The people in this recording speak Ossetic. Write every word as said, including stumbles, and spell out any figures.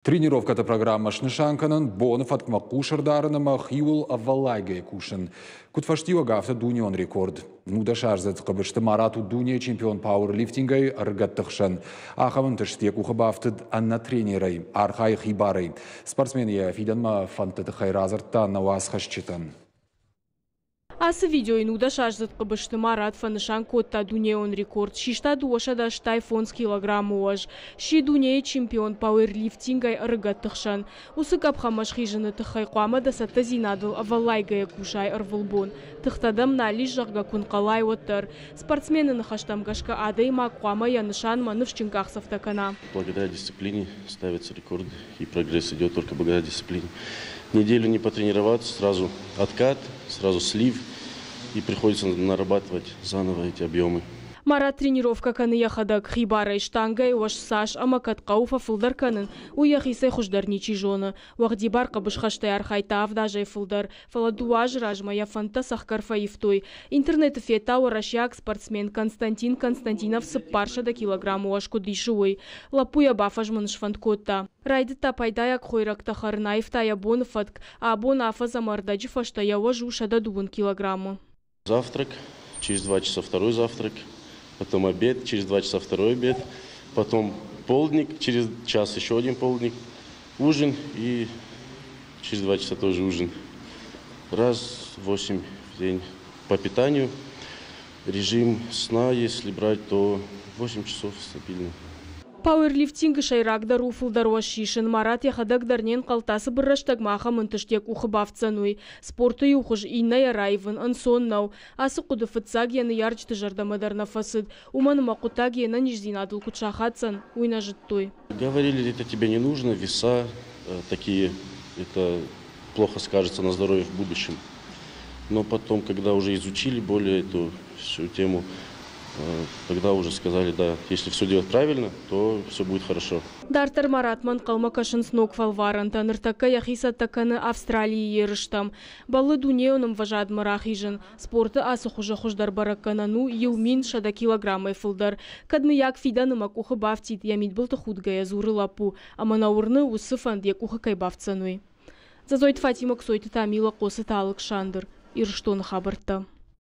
Тренировкӕты программӕ снысан кӕнын, боны фӕткмӕ хъус ӕрдарын ӕмӕ хиуыл ӕвӕллайгӕ кусын. Куыд фӕстиуӕг, афтӕ дунеон рекорд. Нудӕсаздзыд Хъыбызты Марат у дунейы чемпион пауэрлифтингӕй ӕрыгӕтты хсӕн. Ахӕм ӕнтыст йӕ къухы бафтыд ӕнӕ тренерӕй, архайы хибарӕй. Спортсмен йӕ фидӕнмӕ фӕндты тыххӕй радзырдта нӕ уацхӕсджытӕн. Ацы видеойы нудӕсаздзыд Хъыбызты Марат фӕнысан кодта дунеон рекорд. Систа дыууӕсӕдӕ ӕстай фондз килограммы уӕз. Сси дунейы чемпион пауэрлифтингӕй ӕрыгӕтты хсӕн. Уыцы къӕпхӕнмӕ схизыны тыххӕй хъуамӕ дӕ цӕттӕдзинадыл ӕвӕллайгӕйӕ кусай ӕрвылбон. Тыхтӕ дӕм нал ис, зӕгъгӕ, куы нхъӕлай, уӕддӕр. Спортсмены ныхӕстӕм гӕсгӕ адӕймаг хъуамӕ йӕ нысанмӕ ныфсджын къахдзӕфтӕ кӕна. Благодаря дисциплине ставятся рекорды, и прогресс идет только благодаря дисциплине. Неделю не потренироваться, сразу откат, сразу слив, и приходится нарабатывать заново эти объемы. Марат тренировкӕ кӕны йӕхӕдӕг хибарӕй штангӕйы уӕз цас ӕмӕ кӕд хъӕуы фӕфылдӕр кӕнын, уый йӕхицӕй хуыздӕр ничи зоны. Уӕгъдибар хъӕбысхӕстӕй архайдта авд азӕй фылдӕр, фӕлӕ дыууӕ азы размӕ йӕ фӕндтӕ цӕхгӕр фӕивтой. Интернеты федта уӕрӕсейаг спортсмен Константин Константинов цыппарсӕдӕ килограммы уӕз куыд исы, уый. Лӕппу йӕ бафӕзмын сфӕнд кодта. Райдыдта пайдайаг хойрӕгтӕ хӕрын, аивта йӕ боны фӕтк. Абон афӕдз ӕмӕ ӕрдӕджы фӕстӕ йӕ уӕз у сӕдӕ дыууын килограммы. Завтрак, через два часа второй завтрак, потом обед, через два часа второй обед, потом полдник, через час еще один полдник, ужин и через два часа тоже ужин. Раз в восемь в день по питанию. Режим сна, если брать, то восемь часов стабильно. Пауэрлифтингы сӕйрагдӕр у фылдӕр уӕз сисын. Марат йӕхӕдӕг дӕр не нхъӕлдта цыбыр рӕстӕгмӕ ахӕм ӕнтыст йӕ къухы бафтдзӕн, уый. Спорты иу хуыз иннӕйӕ раивын ӕнцон нӕу. Ацы хъуыды фыццаг йӕ ныййарджыты зӕрдӕмӕ дӕр нӕ фӕцыд. Уымӕн ӕмӕ хъуыддаг йе нӕниздзинадыл куыд сахаддзӕн, уый нӕ зыдтой. Говорили, это тебе не нужно, веса такие, это плохо скажется на здоровье в будущем. Но потом, когда уже изучили более эту всю тему, тогда уже сказали, да, если все делать правильно, то все будет хорошо. Дарддӕр Маратмӕ ӕнхъӕлмӕ кӕсынц ног фӕлварӕнтӕ. Ныртӕккӕ йӕхи цӕттӕ кӕны Австралийы ерыстӕм. Бӕллы дунейон ӕмвӕзадмӕ рахизын. Спорты ацы хуызы хуыздӕр бӕрӕггӕнӕн у иу мин сӕдӕ килограммӕй фылдӕр. Кӕд мыййаг фидӕны мӕ къухы бафтид, йӕ мидбылты худгӕйӕ дзуры лӕппу. Ӕмӕ нӕ уырны, уыцы фӕнд йӕ къухы кӕй бафтдзӕн, уый. Дзӕдзойты Фатимӕ, Кцойты Тамила, Хъоцыты Алыксандр. Ирыстоны хабӕрттӕ.